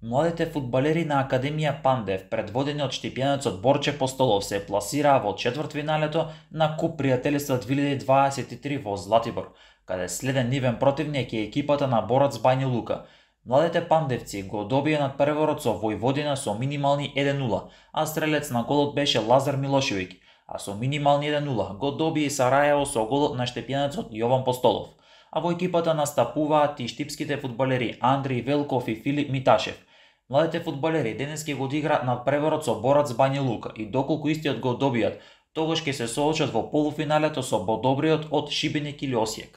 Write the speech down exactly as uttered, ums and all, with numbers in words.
Младите фудбалери на Академија Пандев, предводени од штипјанецот Борче Постолов, се пласираа во четвртфиналето на Куп пријателјства две илјади дваесет и три во Златибор, каде следен нивен противник е екипата на Борац Бања Лука. Младите пандевци го добија надпреварот со Војводина со минимални еден нула, а стрелец на голот беше Лазар Милошевиќ, а со минимални еден нула го добија и Сарајево со голот на штипјанецот Јован Постолов. А во екипата настапуваат и штипските фудбалери Андриј Велков и Филип Миташев. Младите фудбалери денески го одиграат надпреварот со Борац Бања Лука и доколку истиот го добијат, тогаш ќе се соочат во полуфиналето со подобриот од Шибеник или Осијек.